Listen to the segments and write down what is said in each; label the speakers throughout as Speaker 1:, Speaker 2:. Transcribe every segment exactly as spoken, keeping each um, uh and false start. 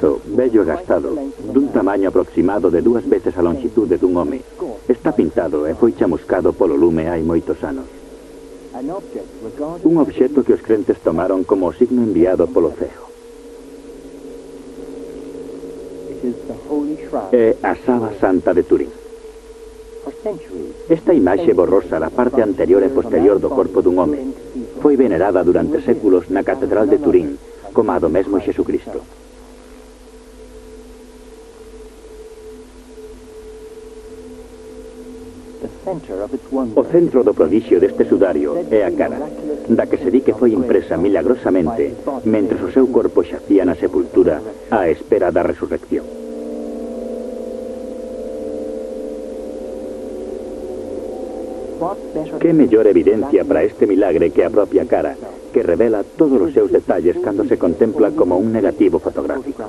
Speaker 1: lienzo, bello e gastado, dun tamaño aproximado de dúas veces a longitude dun home. Está pintado e foi chamuscado polo lume hai moitos anos. Un obxecto que os crentes tomaron como o signo enviado polo ceo. É a Saba Santa de Turín. Esta imaxe borrosa da parte anterior e posterior do corpo dun home foi venerada durante séculos na Catedral de Turín, como a do mesmo Xesucristo. O centro do prodixio deste sudario é a cara, da que se di que foi impresa milagrosamente mentre o seu corpo xacía na sepultura á espera da resurrección. Que mellor evidencia para este milagre que a propia cara, que revela todos os seus detalles cando se contempla como un negativo fotográfico.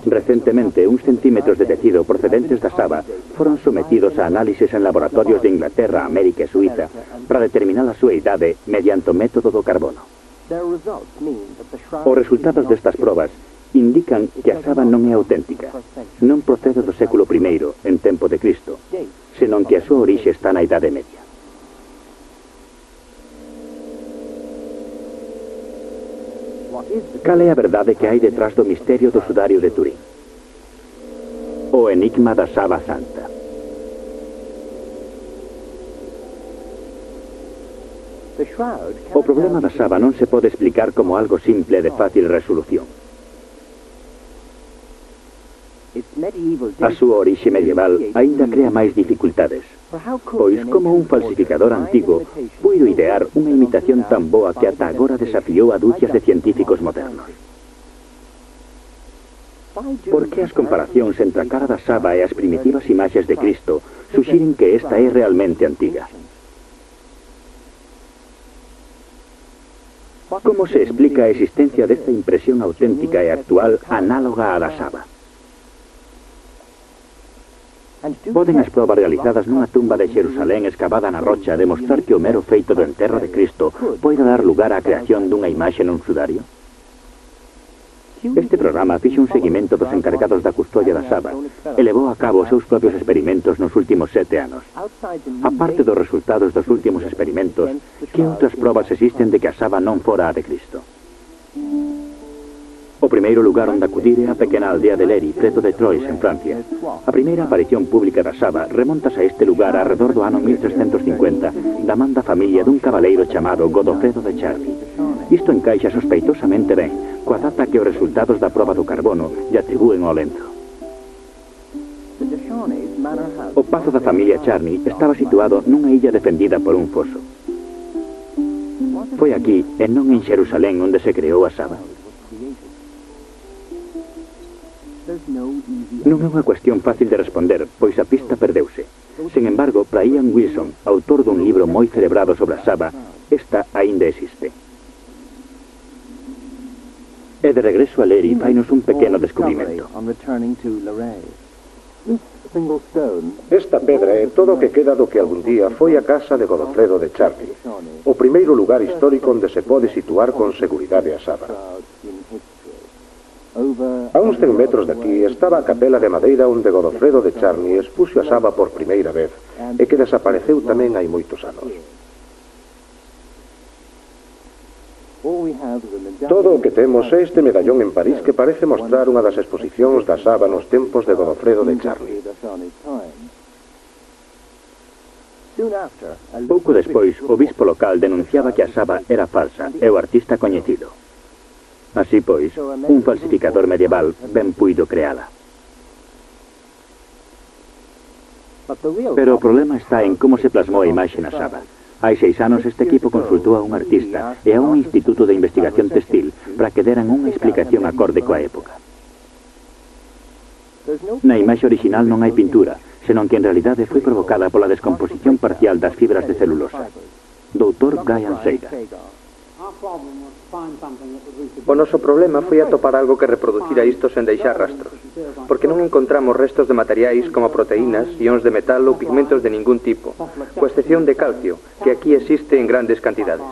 Speaker 1: Recentemente, uns centímetros de tecido procedentes da Saba foron sometidos a análisis en laboratorios de Inglaterra, América e Suiza para determinar a súa idade mediante o método do carbono. Os resultados destas probas indican que a Saba non é auténtica, non procede do século primeiro, en tempo de Cristo, senón que a súa orixe está na Idade Media. Cal é a verdade que hai detrás do misterio do sudario de Turín? O enigma da Saba Santa. O problema da Saba non se pode explicar como algo simple de fácil resolución. A súa orixe medieval aínda crea máis dificultades, pois como un falsificador antigo puido idear unha imitación tan boa que ata agora desafiou a dúcias de científicos modernos. Por que as comparacións entre a cara da Saba e as primitivas imaxes de Cristo suxiren que esta é realmente antiga? Como se explica a existencia desta impresión auténtica e actual análoga á da Saba? Poden as probas realizadas nunha tumba de Xerusalén escavada na rocha demostrar que o mero feito do enterro de Cristo poida dar lugar á creación dunha imaxe nun sudario? Este programa fixe un seguimento dos encargados da custodia da Saba e levou a cabo os seus propios experimentos nos últimos sete anos. A parte dos resultados dos últimos experimentos, que outras probas existen de que a Saba non fora a de Cristo? O primeiro lugar onde acudir é a pequena aldea de Leri, preto de Troyes, en Francia. A primeira aparición pública da Saba remontase a este lugar arredor do ano mil trescentos cincuenta, da man da familia dun cabaleiro chamado Godofredo de Charny. Isto encaixa sospeitosamente ben coa data que os resultados da proba do carbono lle atribúen ao lento. O pazo da familia Charny estaba situado nunha illa defendida por un foso. Foi aquí, e non en Xerusalén, onde se creou a Saba. Non é unha cuestión fácil de responder, pois a pista perdeuse. Sen embargo, para Ian Wilson, autor dun libro moi celebrado sobre a Saba, esta aínda existe. E de regreso a Leri, fainos un pequeno descubrimento.
Speaker 2: Esta pedra é todo o que queda do que algún día foi a casa de Godofredo de Charny, o primeiro lugar histórico onde se pode situar con seguridade a Saba. A uns cen metros daqui estaba a capela de madeira onde Godofredo de Charny expuxo a Saba por primeira vez e que desapareceu tamén hai moitos anos. Todo o que temos é este medallón en París que parece mostrar unha das exposicións da Saba nos tempos de Godofredo de Charny.
Speaker 1: Pouco despois, o bispo local denunciaba que a Saba era falsa e o artista coñecido. Así pois, un falsificador medieval ben puido creala. Pero o problema está en como se plasmou a imaxe na Saba. Hai seis anos este equipo consultou a un artista e a un instituto de investigación textil para que deran unha explicación acorde coa época. Na imaxe original non hai pintura, senón que en realidade foi provocada pola descomposición parcial das fibras de celulosa. doutor Brian Sager.
Speaker 3: O noso problema foi atopar algo que reproducira isto sen deixar rastros, porque non encontramos restos de materiais como proteínas, ións de metal ou pigmentos de ningún tipo, coa excepción de calcio, que aquí existe en grandes cantidades.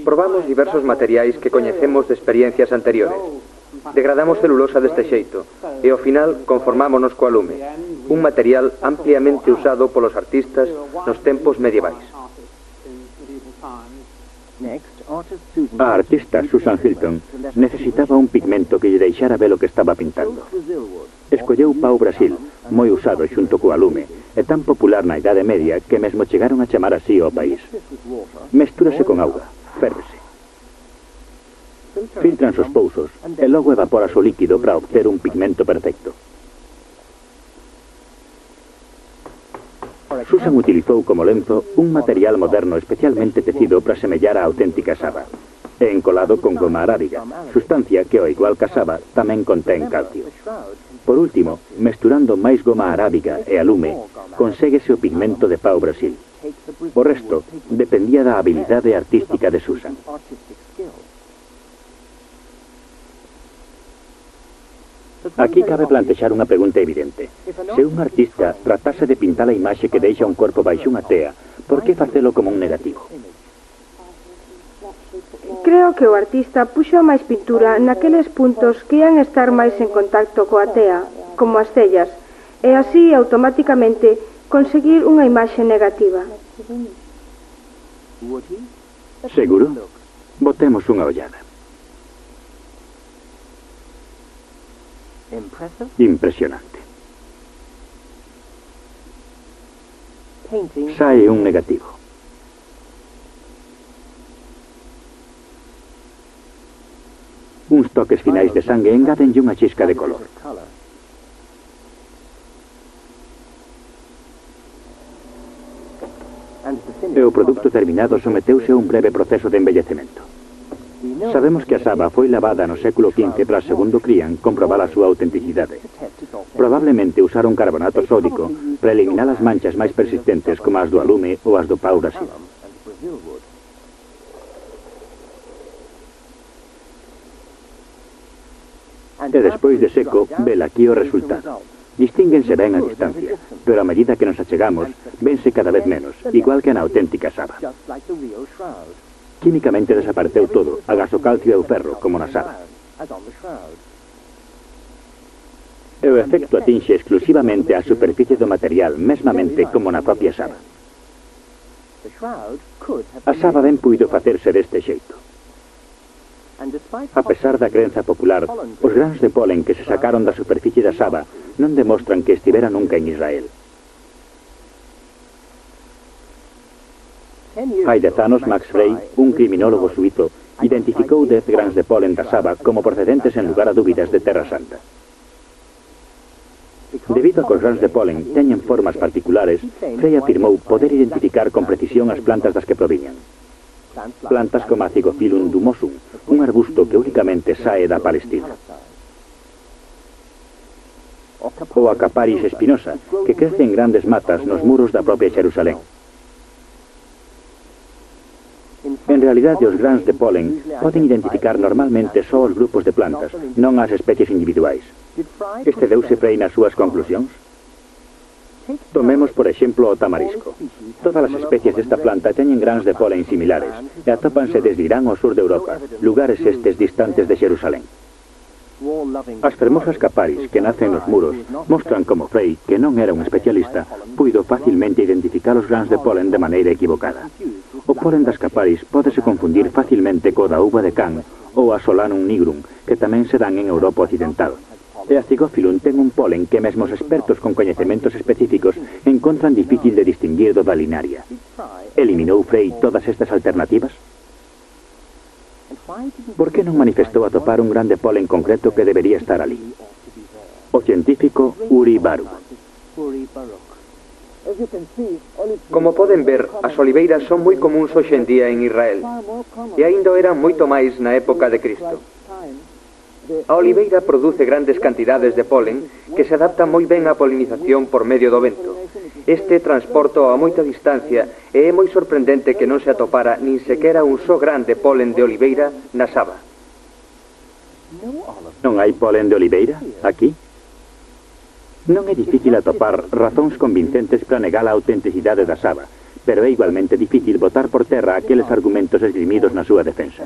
Speaker 3: Probamos diversos materiais que coñecemos de experiencias anteriores. Degradamos celulosa deste xeito e ao final conformámonos coa lume, un material ampliamente usado polos artistas nos tempos medievais.
Speaker 1: A artista Susan Hilton necesitaba un pigmento que lle deixara ver o que estaba pintando. Escolleu pau Brasil, moi usado xunto coa lume, e tan popular na Idade Media que mesmo chegaron a chamar así ao país. Mestúrase con auga, férvese. Filtran os pousos e logo evapora o líquido para obter un pigmento perfecto. Susan utilizou como lenzo un material moderno especialmente tecido para semellar a auténtica saba, e encolado con goma arábiga, sustancia que, ao igual que a saba, tamén contén calcio. Por último, mesturando máis goma arábiga e a lume, conséguese o pigmento de pau Brasil. O resto dependía da habilidade artística de Susan. Aquí cabe plantexar unha pregunta evidente. Se un artista tratase de pintar a imaxe que deixa un corpo baixo unha tea, por que facelo como un negativo?
Speaker 4: Creo que o artista puxo máis pintura naqueles puntos que ian estar máis en contacto coa tea, como as cellas, e así automáticamente conseguir unha imaxe negativa.
Speaker 1: Seguro? Botemos unha ollada. Impresionante. Sae un negativo. Uns toques finais de sangue engádenlle unha chisca de color. E o produto terminado someteuse a un breve proceso de embellecemento. Sabemos que a saba foi lavada no século quince para, segundo crían, comprobar a súa autenticidade. Probablemente usaron carbonato sódico para eliminar as manchas máis persistentes como as do alume ou as do pau Brasil. E despois de seco, vela aquí o resultado. Distínguense ben a distancia, pero a medida que nos achegamos, vense cada vez menos, igual que na auténtica saba. Químicamente desapareceu todo, agás o calcio e o ferro, como na saba. E o efecto atinxe exclusivamente a superficie do material, mesmamente como na propia saba. A saba ben puido facerse deste xeito. A pesar da crenza popular, os grans de polen que se sacaron da superficie da saba non demostran que estivera nunca en Israel. Hai dez anos, Max Frey, un criminólogo suizo, identificou dez grans de polen da saba como procedentes en lugar a dúbidas de Terra Santa. Debido a que os grans de polen teñen formas particulares, Frey afirmou poder identificar con precisión as plantas das que proviñan. Plantas como a Zygophyllum dumosum, un arbusto que únicamente sae da Palestina. Ou a Caparis espinosa, que crece en grandes matas nos muros da propia Xerusalén. En realidade, os grans de polen poden identificar normalmente só os grupos de plantas, non as especies individuais. Excedeuse Frey nas súas conclusións? Tomemos, por exemplo, o tamarisco. Todas as especies desta planta teñen grans de polen similares e atópanse desde Irán ao sur de Europa, lugares estes distantes de Xerusalén. As fermosas Caparis que nacen nos muros mostran como Frey, que non era un especialista, puido facilmente identificar os grans de polen de maneira equivocada. O polen das Caparis pódese confundir facilmente co da uva de can ou a Solanum nigrum, que tamén se dan en Europa occidental. E a Zygophyllum ten un polen que mesmo os expertos con coñecementos específicos encontran difícil de distinguir do da linaria. Eliminou Frey todas estas alternativas? Por que non manifestou atopar un grande polen concreto que debería estar ali? O científico Uri Baruch.
Speaker 3: Como poden ver, as oliveiras son moi comuns hoxe en día en Israel, e aínda eran moito máis na época de Cristo. A oliveira produce grandes cantidades de polen que se adapta moi ben á polinización por medio do vento. Este transporta a moita distancia e é moi sorprendente que non se atopara nin sequera un só gran de polen de oliveira na saba.
Speaker 1: Non hai polen de oliveira aquí? Non é difícil atopar razóns convincentes para negar a autenticidade da saba, pero é igualmente difícil botar por terra aqueles argumentos esgrimidos na súa defensa.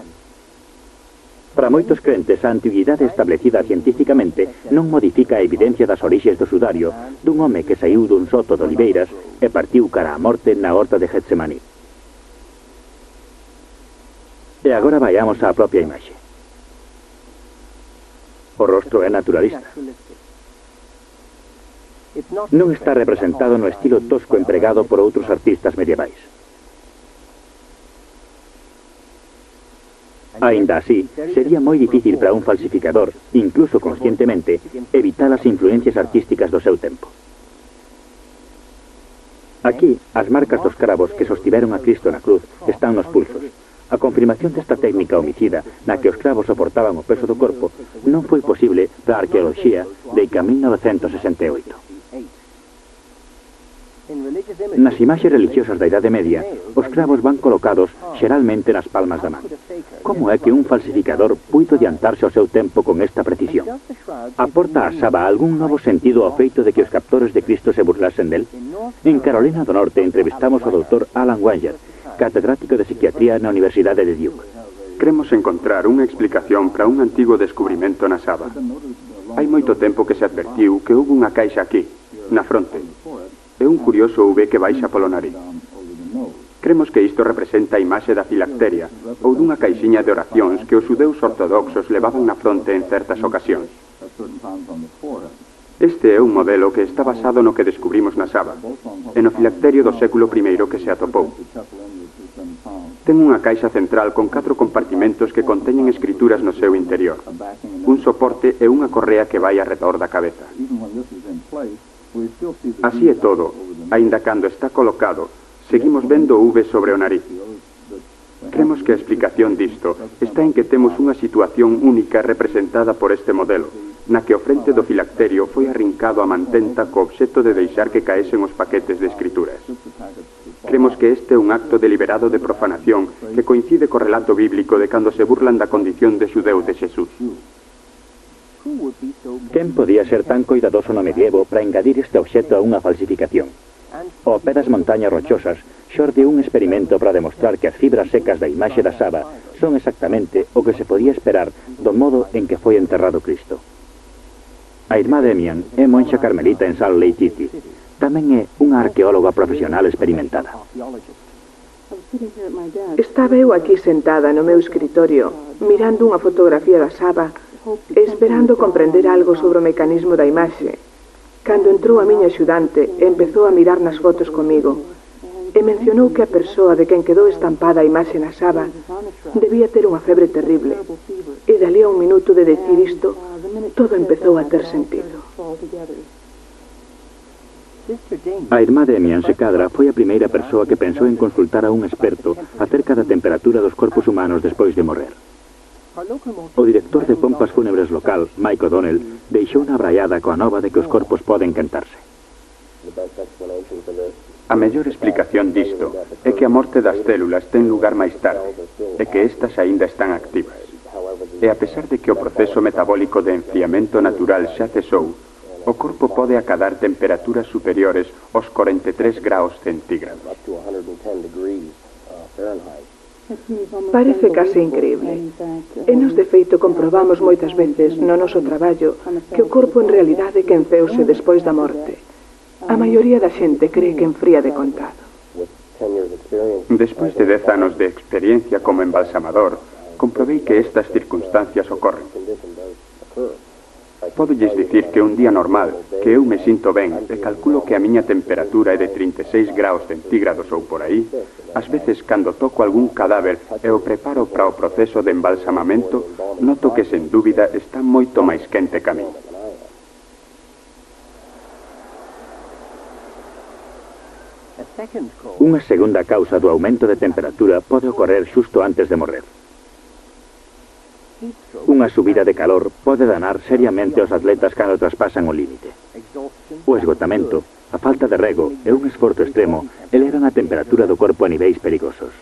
Speaker 1: Para moitos crentes, a antiguidade establecida científicamente non modifica a evidencia das orixes do sudario dun home que saiu dun soto de oliveiras e partiu cara á morte na horta de Getsemaní. E agora vayamos á propia imaxe. O rostro é naturalista. Non está representado no estilo tosco empregado por outros artistas medievais. Aínda así, sería moi difícil para un falsificador, incluso conscientemente, evitar as influencias artísticas do seu tempo. Aquí, as marcas dos cravos que sostiveron a Cristo na cruz están nos pulsos. A confirmación desta técnica homicida na que os cravos soportaban o peso do corpo non foi posible para a arqueoloxía de mil novecentos sesenta e oito. Nas imaxes religiosas da Idade Media, os cravos van colocados xeralmente nas palmas da man. Como é que un falsificador puido adiantarse ao seu tempo con esta precisión? Aporta a Saba algún novo sentido ao feito de que os captores de Cristo se burlasen del? En Carolina do Norte entrevistamos ao doutor Alan Wenger, catedrático de psiquiatría na Universidade de Duke.
Speaker 5: Cremos encontrar unha explicación para un antigo descubrimento na Saba. Hai moito tempo que se advertiu que houve unha caixa aquí, na fronte. É un curioso V que baixa polo nariz. Cremos que isto representa a imaxe da filacteria ou dunha caixiña de oracións que os xudeus ortodoxos levaban na fronte en certas ocasións. Este é un modelo que está basado no que descubrimos na Saba, e no filacterio do século primeiro que se atopou. Ten unha caixa central con catro compartimentos que conteñen escrituras no seu interior, un soporte e unha correa que vai arredor da cabeza. Así é todo, aínda cando está colocado, seguimos vendo V sobre o nariz. Cremos que a explicación disto está en que temos unha situación única representada por este modelo, na que o frente do filacterio foi arrincado a mantenta co obxecto de deixar que caesen os paquetes de escrituras. Cremos que este é un acto deliberado de profanación que coincide co relato bíblico de cando se burlan da condición de xudeu de Xesús.
Speaker 1: Quen podía ser tan coidadoso no medievo para engadir este obxecto a unha falsificación? Ao pé das montañas rochosas, xorde un experimento para demostrar que as fibras secas da imaxe da Saba son exactamente o que se podía esperar do modo en que foi enterrado Cristo. A irmá Demian é monxa carmelita en Salt Lake City. Tamén é unha arqueóloga profesional experimentada.
Speaker 6: Estaba eu aquí sentada no meu escritorio, mirando unha fotografía da Saba, esperando comprender algo sobre o mecanismo da imaxe, cando entrou a miña axudante e empezou a mirar nas fotos comigo, e mencionou que a persoa de quen quedou estampada a imaxe na Saba debía ter unha febre terrible, e dali a un minuto de decir isto, todo empezou a ter sentido.
Speaker 1: A irmá Demian Secadra foi a primeira persoa que pensou en consultar a un experto acerca da temperatura dos corpos humanos despois de morrer. O director de pompas fúnebres local, Mike O'Donnell, deixou na braiada coa nova de que os corpos poden quentarse.
Speaker 5: A mellor explicación disto é que a morte das células ten lugar máis tarde e que estas aínda están activas. E a pesar de que o proceso metabólico de enfriamento natural xa cesou, o corpo pode acadar temperaturas superiores aos corenta e tres graus centígrados.
Speaker 6: Parece case increíble. E nos de feito comprobamos moitas veces no noso traballo que o corpo en realidade quenceuse despois da morte. A maioría da xente cree que enfría de contado.
Speaker 5: Despois de dez anos de experiencia como embalsamador, comprobei que estas circunstancias ocorren. Podolles dicir que un día normal, que eu me sinto ben e calculo que a miña temperatura é de trinta e seis graus centígrados ou por aí, ás veces cando toco algún cadáver e o preparo para o proceso de embalsamamento, noto que sen dúbida está moito máis quente que a mí.
Speaker 1: Unha segunda causa do aumento de temperatura pode ocorrer xusto antes de morrer. Unha subida de calor pode danar seriamente aos atletas cando traspasan o límite. O esgotamento, a falta de rego e un esforzo extremo elevan a temperatura do corpo a niveis perigosos.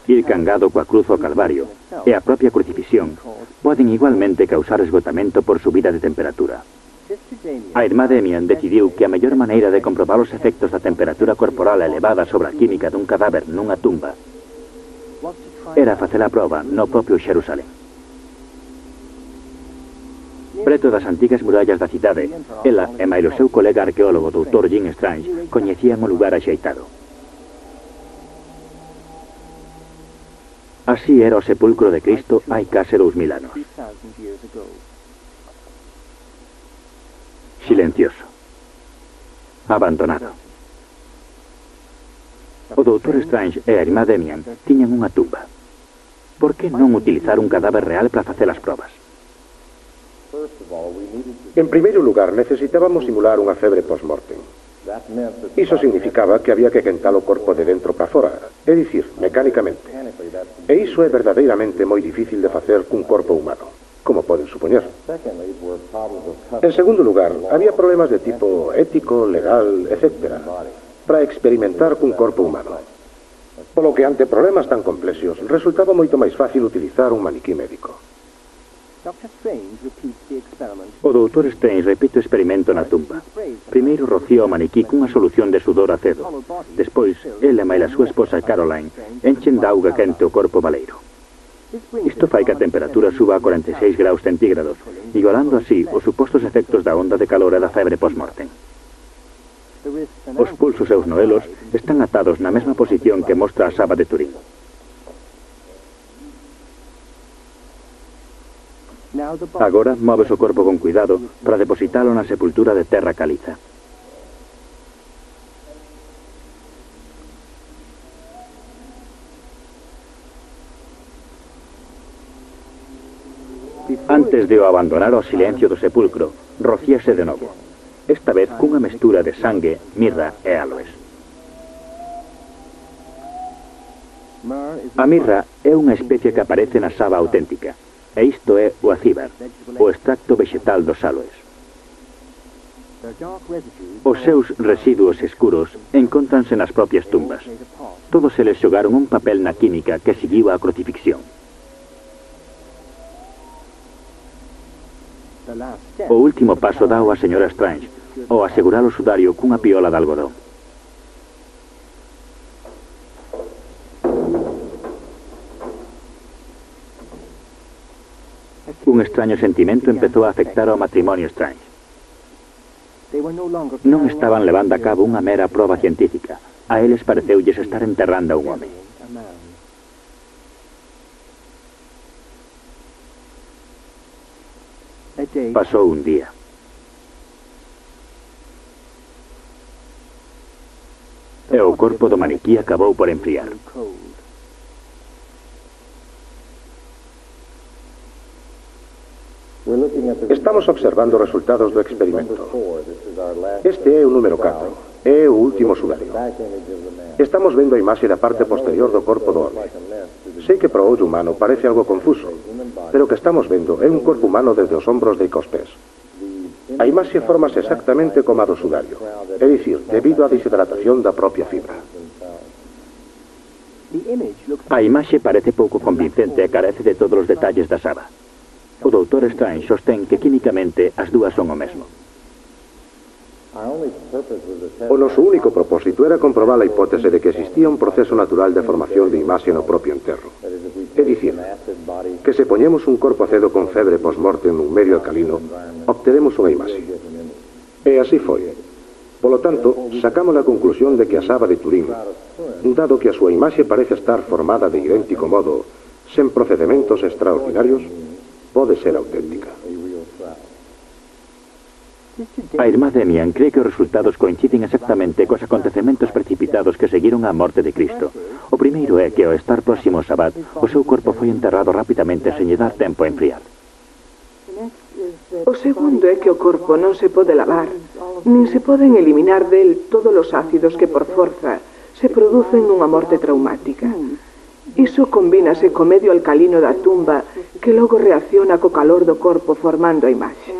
Speaker 1: Ir cangado coa cruz ao Calvario e a propia crucifixión poden igualmente causar esgotamento por subida de temperatura. A irmá Demian decidiu que a mellor maneira de comprobar os efectos da temperatura corporal elevada sobre a química dun cadáver nunha tumba era facer a proba no propio Xerusalén. Preto das antigas murallas da cidade, ela e máis o seu colega arqueólogo doutor Jim Strange coñecían o lugar axeitado. Así era o sepulcro de Cristo hai case dous mil anos. Silencioso. Abandonado. O doutor Strange e a irmá Demian tiñan unha tumba. Por que non utilizar un cadáver real para facer as probas?
Speaker 2: En primeiro lugar, necesitábamos simular unha febre post-mortem. Iso significaba que había que quentar o corpo de dentro para fora, é dicir, mecánicamente. E iso é verdadeiramente moi difícil de facer cun corpo humano, como poden supoñer. En segundo lugar, había problemas de tipo ético, legal, etcétera, para experimentar cun corpo humano. Polo que ante problemas tan complexos, resultaba moito máis fácil utilizar un maniquí médico.
Speaker 1: O doutor Strange repite o experimento na tumba. Primeiro rocía o maniquí cunha solución de sudor acedo. Despois, ele e máis a súa esposa Caroline enchen de auga quente o corpo baleiro. Isto fai que a temperatura suba a cuarenta e seis graus centígrados, igualando así os supostos efectos da onda de calor e da febre post-mortem. Os pulsos e os noelos están atados na mesma posición que mostra a Saba de Turín. Agora moves o corpo con cuidado para depositalo na sepultura de terra caliza. Antes de o abandonar ao silencio do sepulcro, rocíase de novo. Esta vez cunha mestura de sangue, mirra e aloes. A mirra é unha especie que aparece na Saba auténtica. E isto é o acíbar, o extracto vegetal dos aloes. Os seus residuos escuros encóntranse nas propias tumbas. Todos eles xogaron un papel na química que seguiu a crucifixión. O último paso dao a señora Strange, ao asegurar o sudario cunha piola de algodón. Un extraño sentimento empezou a afectar ao matrimonio Strange. Non estaban levando a cabo unha mera proba científica. A eles pareceulles estar enterrando a un home. Pasou un día. E o corpo do maniquí acabou por enfriar.
Speaker 2: Estamos observando os resultados do experimento. Este é o número catro, é o último sudario. Estamos vendo a imaxe da parte posterior do corpo do home. Sei que para o ollo humano parece algo confuso, pero o que estamos vendo é un corpo humano desde os ombros de cos pés. A imaxe formase exactamente como a do sudario, é dicir, debido á deshidratación da propia fibra.
Speaker 1: A imaxe parece pouco convincente e carece de todos os detalles da Saba. O doutor Strange sostén que químicamente as dúas son o mesmo.
Speaker 2: O noso único propósito era comprobar a hipótese de que existía un proceso natural de formación de imaxe no propio enterro. É dicir, que se poñemos un corpo acedo con febre post-mortem nun medio alcalino, obteremos unha imaxe. E así foi. Polo tanto, sacamos a conclusión de que a Saba de Turín, dado que a súa imaxe parece estar formada de idéntico modo, sen procedementos extraordinarios, pode ser auténtica.
Speaker 1: A irmá Demian cree que os resultados coinciden exactamente cos acontecementos precipitados que seguiron á morte de Cristo. O primeiro é que ao estar próximo ao Sabbat, o seu corpo foi enterrado rapidamente sen lle dar tempo a enfriar.
Speaker 6: O segundo é que o corpo non se pode lavar, nin se poden eliminar del todos os ácidos que por forza se producen nunha morte traumática. Iso combínase co medio alcalino da tumba que logo reacciona co calor do corpo formando a imaxe.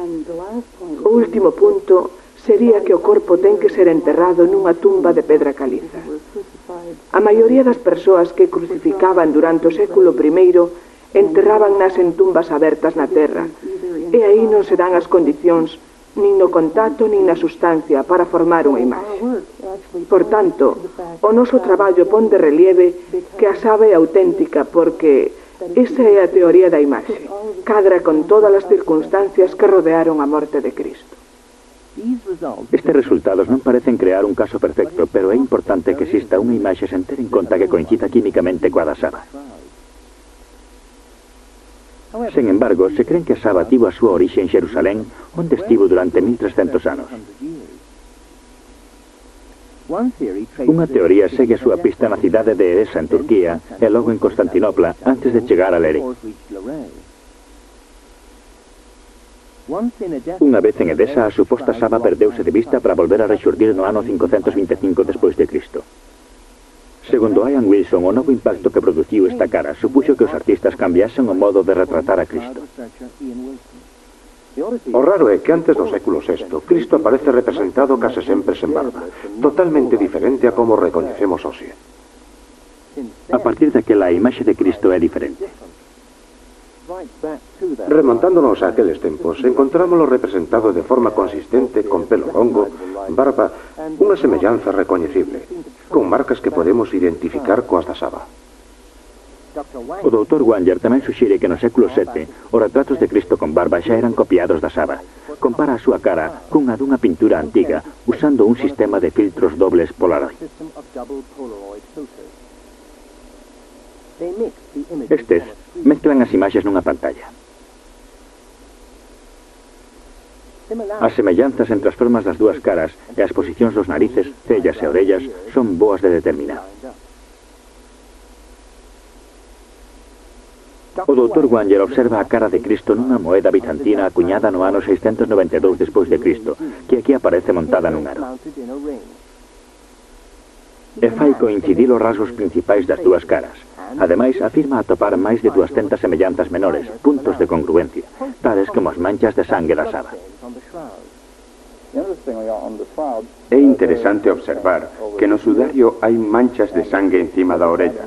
Speaker 6: O último punto sería que o corpo ten que ser enterrado nunha tumba de pedra caliza. A maioría das persoas que crucificaban durante o século primeiro enterraban nas en tumbas abertas na terra, e aí non se dan as condicións nin no contacto nin na sustancia para formar unha imaxe. Por tanto, o noso traballo pon de relieve que a saba é auténtica porque esa é a teoría da imaxe, cadra con todas as circunstancias que rodearon a morte de Cristo.
Speaker 1: Estes resultados non parecen crear un caso perfecto, pero é importante que exista unha imaxe sen ter en conta que coincida químicamente coa da saba. Sen embargo, se creen que a saba tivo a súa orixe en Xerusalén, onde estivo durante mil trescentos anos. Unha teoría segue a súa pista na cidade de Edesa, en Turquía, e logo en Constantinopla, antes de chegar a Leric. Unha vez en Edesa, a suposta saba perdeuse de vista para volver a rexurdir no ano cincocentos vinte e cinco despois de Cristo. Segundo Ian Wilson, o novo impacto que produciu esta cara supuxo que os artistas cambiasen o modo de retratar a Cristo.
Speaker 2: O raro é que antes do século sexto, Cristo aparece representado case sempre sen barba, totalmente diferente a como recoñecemos hoxe.
Speaker 1: A partir daquela, a imaxe de Cristo é diferente.
Speaker 2: Remontándonos a aqueles tempos, encontrámoslo representado de forma consistente, con pelo longo, barba, unha semellanza recoñecible, con marcas que podemos identificar coas da saba.
Speaker 1: O doutor Wanger tamén suxire que no século sete os retratos de Cristo con barba xa eran copiados da saba. Compara a súa cara cunha dunha pintura antiga usando un sistema de filtros dobles Polaroid. Estes mezclan as imaxes nunha pantalla. As semellanzas entre as formas das dúas caras e as posicións dos narices, cellas e orellas son boas de determinar. O doutor Wanger observa a cara de Cristo nunha moeda bizantina acuñada no ano seiscentos noventa e dous despois de Cristo, que aquí aparece montada nun aro. E fai coincidir os rasgos principais das dúas caras. Ademais, afirma atopar máis de duascentas semellanzas menores, puntos de congruencia, tales como as manchas de sangue da saba.
Speaker 5: É interesante observar que no sudario hai manchas de sangue encima da orella,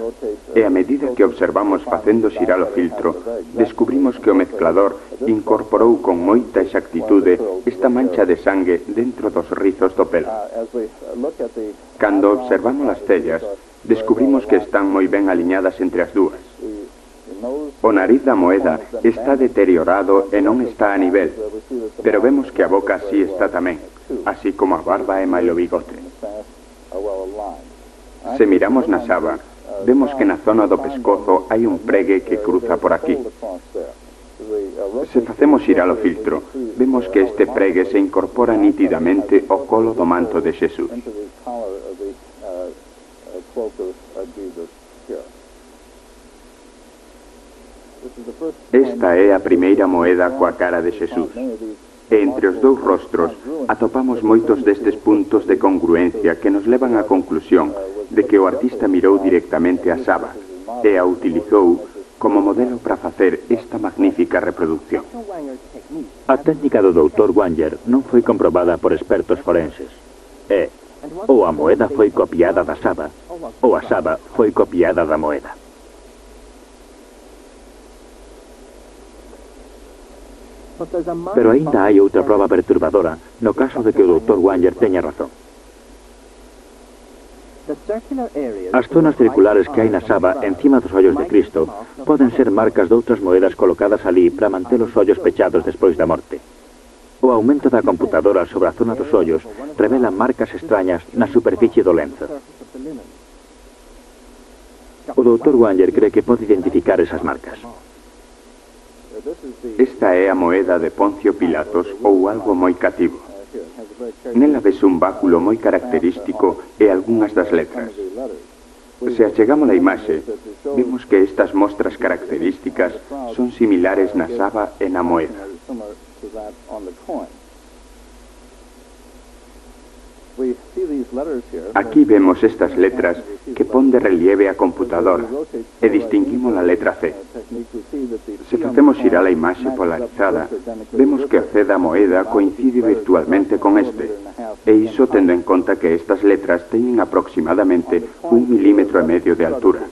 Speaker 5: e a medida que observamos facendo xirar o filtro, descubrimos que o mezclador incorporou con moita exactitude esta mancha de sangue dentro dos rizos do pelo. Cando observamos as cellas, descubrimos que están moi ben aliñadas entre as dúas. O nariz da moeda está deteriorado e non está a nivel, pero vemos que a boca sí está tamén, así como a barba e mailo bigote. Se miramos na saba, vemos que na zona do pescozo hai un pregue que cruza por aquí. Se facemos xirar o filtro, vemos que este pregue se incorpora nítidamente ao colo do manto de Xesús. Esta é a primeira moeda coa cara de Xesús. E entre os dous rostros atopamos moitos destes puntos de congruencia que nos levan á conclusión de que o artista mirou directamente a saba e a utilizou como modelo para facer esta magnífica reproducción.
Speaker 1: A técnica do doutor Wanger non foi comprobada por expertos forenses. E, ou a moeda foi copiada da saba, ou a saba foi copiada da moeda. Pero aínda hai outra proba perturbadora no caso de que o doutor Wanger teña razón. As zonas circulares que hai na saba encima dos ollos de Cristo poden ser marcas de outras moedas colocadas ali para manter os ollos pechados despois da morte. O aumento da computadora sobre a zona dos ollos revela marcas extrañas na superficie do lenzo. O doutor Wanger cree que pode identificar esas marcas.
Speaker 5: Esta é a moeda de Poncio Pilatos ou algo moi cativo. Nela ves un báculo moi característico e algunhas das letras. Se achegamos a imaxe, vemos que estas mostras características son similares na saba e na moeda. Aquí vemos estas letras que pon de relieve a computadora e distinguimos a letra C. Se facemos xirar a imaxe polarizada, vemos que o C da moeda coincide virtualmente con este, e iso tendo en conta que estas letras teñen aproximadamente un milímetro e medio de altura.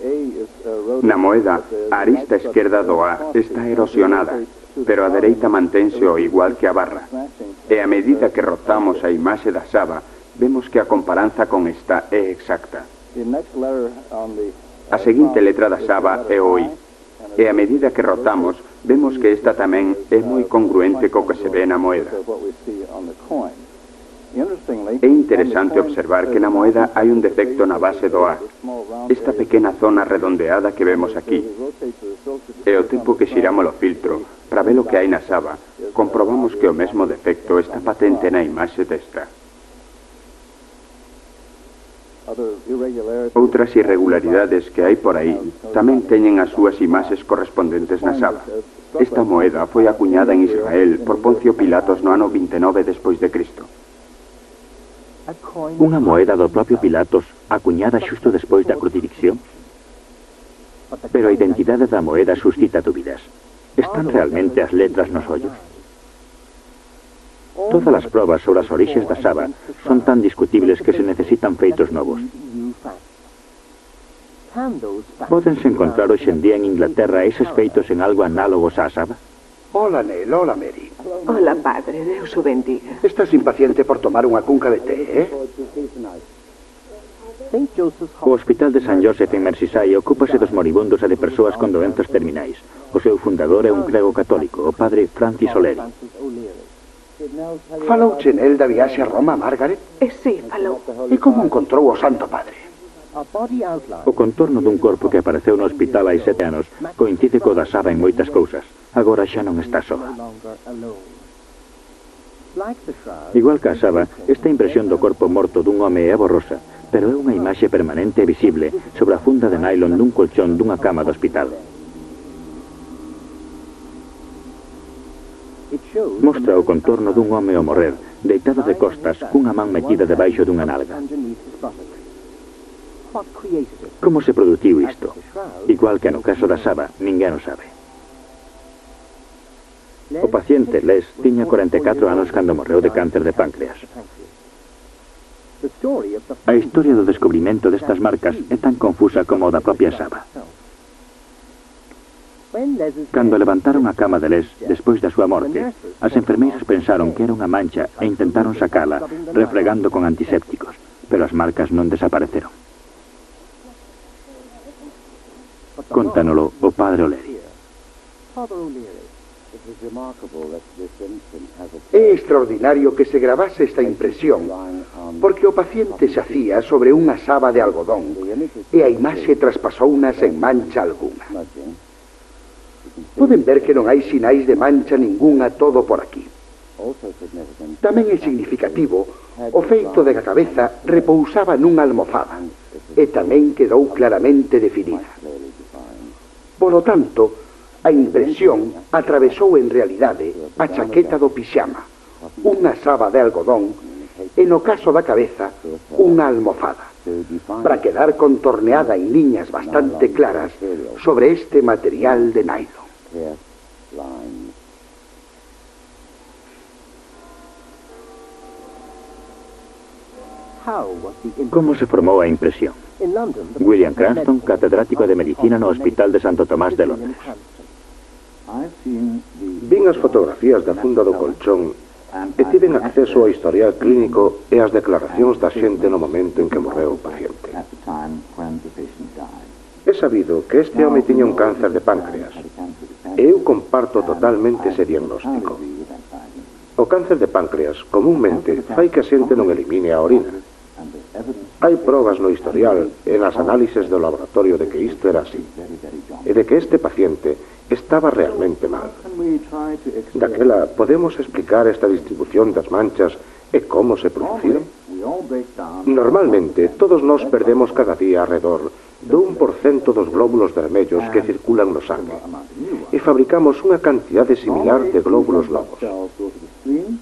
Speaker 5: Na moeda, a arista esquerda do A está erosionada, pero a dereita mantense o igual que a barra, E a medida que rotamos a imaxe da Saba, vemos que a comparanza con esta é exacta. A seguinte letra da Saba é o I. E a medida que rotamos, vemos que esta tamén é moi congruente co que se ve na moeda. É interesante observar que na moeda hai un defecto na base do A. Esta pequena zona redondeada que vemos aquí. E o tempo que xiramos o filtro para ver o que hai na Saba, comprobamos que o mesmo defecto está patente na imaxe desta. Outras irregularidades que hai por aí tamén teñen as súas imaxes correspondentes na Saba. Esta moeda foi acuñada en Israel por Poncio Pilatos no ano vinte e nove despois de Cristo.
Speaker 1: Unha moeda do propio Pilatos acuñada xusto despois da crucifixión? Pero a identidade da moeda suscita dúbidas. Están realmente as letras nos ollos? Todas as probas sobre as orixes da Saba son tan discutibles que se necesitan feitos novos. Pódense encontrar hoxe en día en Inglaterra eses feitos en algo análogos á Saba?
Speaker 7: Hola, Nel, hola, Mary.
Speaker 6: Hola, padre, Deus o bendiga.
Speaker 7: Estás impaciente por tomar unha cunca de té, eh?
Speaker 1: O Hospital de San Joseph en Merseyside ocúpase dos moribundos e de persoas con doenzas terminais. O seu fundador é un grego católico, o padre Francis O'Leary.
Speaker 7: Falou Chenel da viaxe a Roma, Margaret?
Speaker 6: Eh, sí, falou.
Speaker 7: E como encontrou o Santo Padre?
Speaker 1: O contorno dun corpo que apareceu no hospital hai sete anos coincide co da Saba en moitas cousas. Agora xa non está soa. Igual que a Saba, esta impresión do corpo morto dun home é borrosa, pero é unha imaxe permanente e visible sobre a funda de nylon dun colchón dunha cama do hospital. Mostra o contorno dun home ao morrer, deitado de costas, cunha man metida debaixo dunha nalga. Como se produciu isto? Igual que no caso da Saba, ninguén o sabe. O paciente Les tiña cuarenta e catro anos cando morreu de cáncer de páncreas. A historia do descubrimento destas marcas é tan confusa como o da propia Saba. Cando levantaron a cama de Les despois da súa morte, as enfermeiras pensaron que era unha mancha e intentaron sacala refregando con antisépticos, pero as marcas non desapareceron. Contanolo o padre O'Leary.
Speaker 7: É extraordinario que se gravase esta impresión, porque o paciente xacía sobre unha saba de algodón e a imaxe traspasouna sen mancha alguna. Poden ver que non hai sinais de mancha ningunha todo por aquí. Tamén é significativo o feito de que a cabeza repousaba nunha almofada e tamén quedou claramente definida. Polo tanto, a impresión atravesou en realidade a chaqueta do pixama, unha saba de algodón e, no caso da cabeza, unha almofada, para quedar contorneada en liñas bastante claras sobre este material de nylon.
Speaker 1: Como se formou a impresión? William Cranston, catedrático de Medicina no Hospital de Santo Tomás de Londres.
Speaker 2: Vin as fotografías da funda do colchón e tiven acceso ao historial clínico e as declaracións da xente no momento en que morreu o paciente. He sabido que este home tiña un cáncer de páncreas e eu comparto totalmente ese diagnóstico. O cáncer de páncreas comúnmente fai que a xente non elimine a orina. Hai probas no historial e nas análises do laboratorio de que isto era así e de que este paciente estaba realmente mal. Daquela, podemos explicar esta distribución das manchas e como se produciron? Normalmente, todos nós perdemos cada día alrededor do un por cento dos glóbulos vermellos que circulan no sangue e fabricamos unha cantidade similar de glóbulos novos.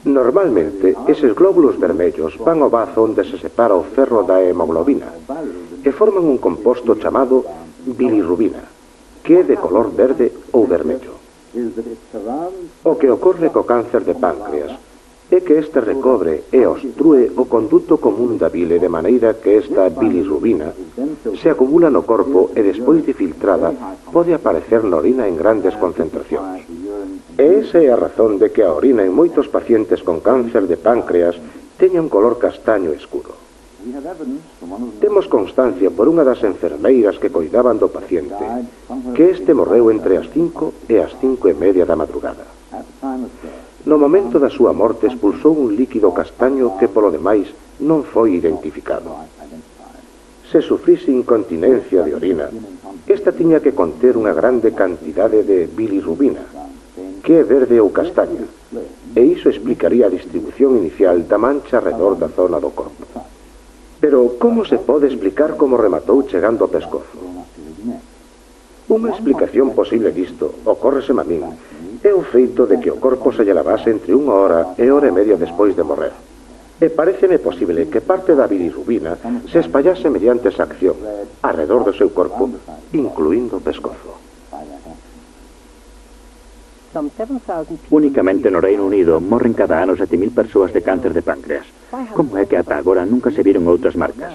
Speaker 2: Normalmente, eses glóbulos vermellos van ao bazo onde se separa o ferro da hemoglobina e forman un composto chamado bilirrubina, que é de color verde ou vermello. O que ocorre co cáncer de páncreas é que este recobre e obstrúe o conduto común da bile de maneira que esta bilirrubina se acumula no corpo e despois de filtrada pode aparecer na orina en grandes concentracións. E esa é a razón de que a orina en moitos pacientes con cáncer de páncreas teña un color castaño escuro. Temos constancia por unha das enfermeiras que coidaban do paciente que este morreu entre as cinco e as cinco e media da madrugada. No momento da súa morte expulsou un líquido castaño que polo demais non foi identificado. Se sufrise incontinencia de orina, esta tiña que conter unha grande cantidade de bilirrubina, que é verde ou castaña, e iso explicaría a distribución inicial da mancha arredor da zona do corpo. Pero como se pode explicar como rematou chegando ao pescozo? Unha explicación posible disto, ocórreseme a min, é o feito de que o corpo se lle lavase entre unha hora e hora e media despois de morrer. E pareceme posible que parte da bilirrubina se espallase mediante esa acción, arredor do seu corpo, incluindo o pescozo.
Speaker 1: Únicamente no Reino Unido morren cada ano sete mil persoas de cáncer de páncreas. Como é que ata agora nunca se viron outras marcas?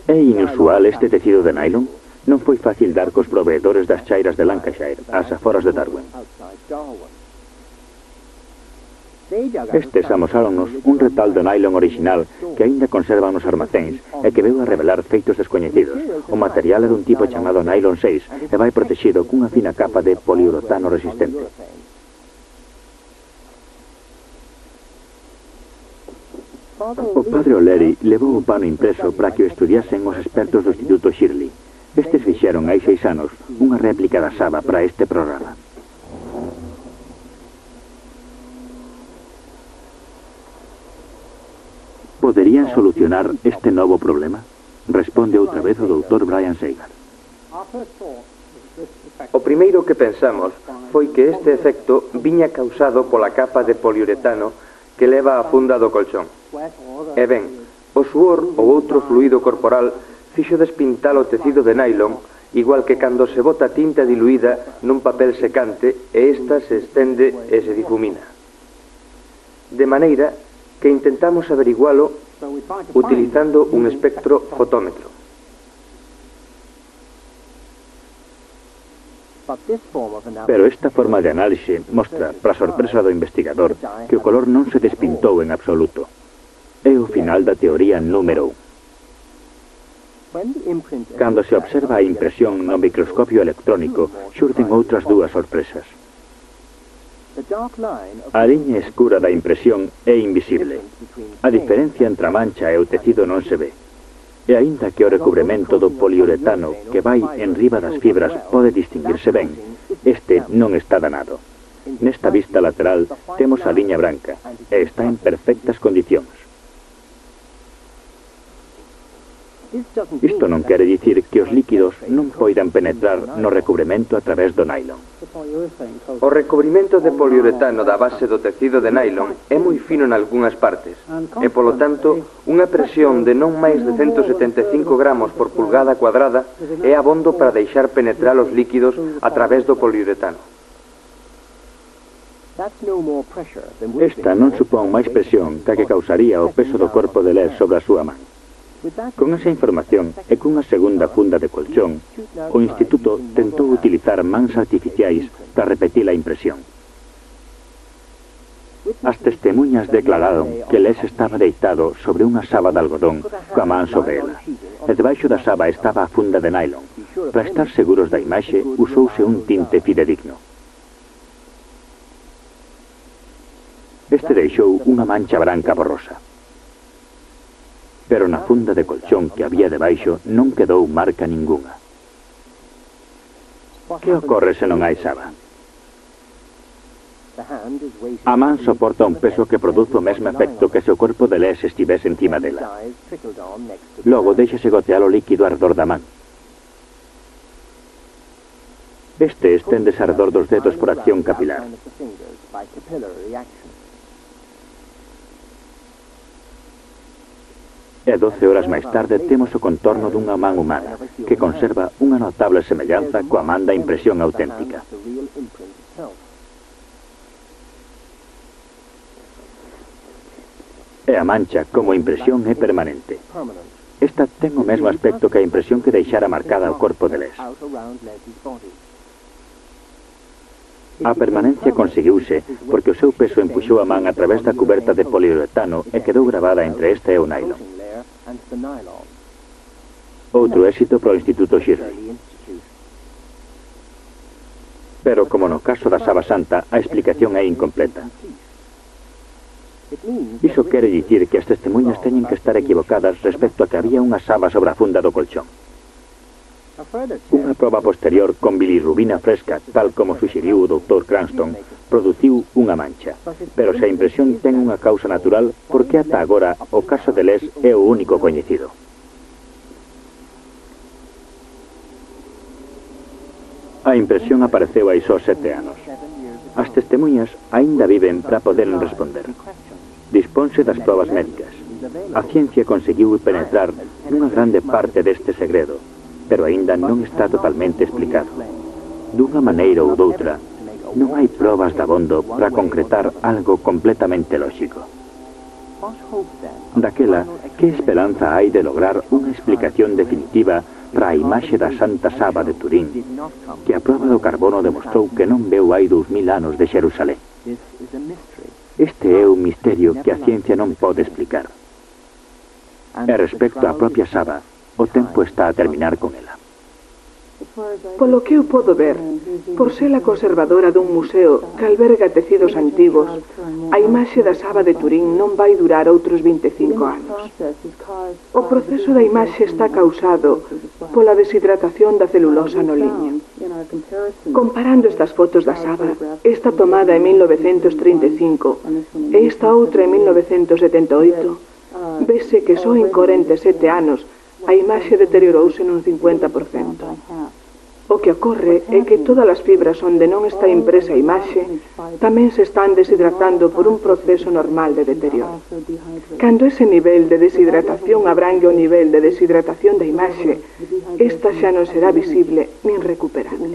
Speaker 1: É inusual este tecido de nylon? Non foi fácil dar cos proveedores das chairas de Lancashire, ás aforas de Darwin. Estes amosáronnos un retal de nylon original que aínda conservan nos armacéns e que veu a revelar feitos descoñecidos. O material é dun tipo chamado nylon seis e vai protexido cunha fina capa de poliuretano resistente. O padre O'Leary levou o pano impreso para que o estudiasen os expertos do Instituto Shirley. Estes fixeron hai seis anos unha réplica da saba para este programa. Poderían solucionar este novo problema? Responde outra vez o doutor Brian Sager.
Speaker 3: O primeiro que pensamos foi que este efecto viña causado pola capa de poliuretano que leva a funda do colchón. E ben, o suor ou outro fluido corporal fixo despintar o tecido de nylon, igual que cando se bota tinta diluída nun papel secante e esta se estende e se difumina. De maneira que intentamos averigualo utilizando un espectro fotómetro.
Speaker 1: Pero esta forma de análise mostra, para sorpresa do investigador, que o color non se despintou en absoluto. É o final da teoría número un. Cando se observa a impresión no microscopio electrónico, xurden outras dúas sorpresas. A liña escura da impresión é invisible. A diferencia entre a mancha e o tecido non se ve. E aínda que o recubrimento do poliuretano que vai en riba das fibras pode distinguirse ben, este non está danado. Nesta vista lateral temos a liña branca e está en perfectas condicións. Isto non quere dicir que os líquidos non poidan penetrar no recubrimento a través do nylon.
Speaker 3: O recubrimento de poliuretano da base do tecido de nylon é moi fino en algunhas partes e, polo tanto, unha presión de non máis de ciento setenta e cinco gramos por pulgada cuadrada é abondo para deixar penetrar os líquidos a través do poliuretano.
Speaker 1: Esta non supón máis presión que a que causaría o peso do corpo de Les sobre a súa man. Con esa información e cunha segunda funda de colchón, o Instituto tentou utilizar mans artificiais para repetir a impresión. As testemunhas declararon que Les estaba deitado sobre unha saba de algodón coa man sobre ela, e debaixo da saba estaba a funda de nylon. Para estar seguros da imaxe, usouse un tinte fidedigno. Este deixou unha mancha branca borrosa. Pero na funda de colchón que había debaixo non quedou marca ningunha. Que ocorre se non hai saba? A man soporta un peso que produce o mesmo efecto que se o corpo de Les estivese encima dela. Logo deixase gotear o líquido arredor da man. Este esténdese arredor dos dedos por acción capilar. E doce horas máis tarde temos o contorno dunha man humana, que conserva unha notable semellanza coa man da impresión auténtica. E a mancha, como impresión, é permanente. Esta ten o mesmo aspecto que a impresión que deixara marcada o corpo de Les. A permanencia conseguiuse porque o seu peso empuxou a man a través da cuberta de poliuretano e quedou gravada entre esta e o nylon. Outro éxito para o Instituto Shirley. Pero, como no caso da Saba Santa, a explicación é incompleta. Iso quere dicir que as testemunhas teñen que estar equivocadas respecto a que había unha saba sobre a funda do colchón. Unha proba posterior con bilirrubina fresca, tal como suxeriu o doutor Cranston, produciu unha mancha. Pero se a impresión ten unha causa natural, porque ata agora o caso de Les é o único coñecido. A impresión apareceu hai só sete anos. As testemunhas aínda viven para poderen responder. Disponse das probas médicas. A ciencia conseguiu penetrar nunha grande parte deste segredo, pero aínda non está totalmente explicado. Dunha maneira ou doutra, non hai probas dabondo para concretar algo completamente lóxico. Daquela, que esperanza hai de lograr unha explicación definitiva para a imaxe da Santa Saba de Turín, que a proba do carbono demostrou que non veu hai dous mil anos de Xerusalén? Este é un misterio que a ciencia non pode explicar. E respecto á propia Saba, o tempo está a terminar con ela.
Speaker 6: Polo que eu podo ver, por ser a conservadora dun museo que alberga tecidos antigos, a imaxe da Saba de Turín non vai durar outros vinte e cinco anos. O proceso da imaxe está causado pola deshidratación da celulosa no liño. Comparando estas fotos da Saba, esta tomada en mil novecentos trinta e cinco e esta outra en mil novecentos setenta e oito, vese que só en corenta e sete anos a imaxe deteriorouse nun cincuenta por cento. O que ocorre é que todas as fibras onde non está impresa a imaxe tamén se están deshidratando por un proceso normal de deterioro. Cando ese nivel de deshidratación abrangue o nivel de deshidratación da imaxe, esta xa non será visible nin recuperable.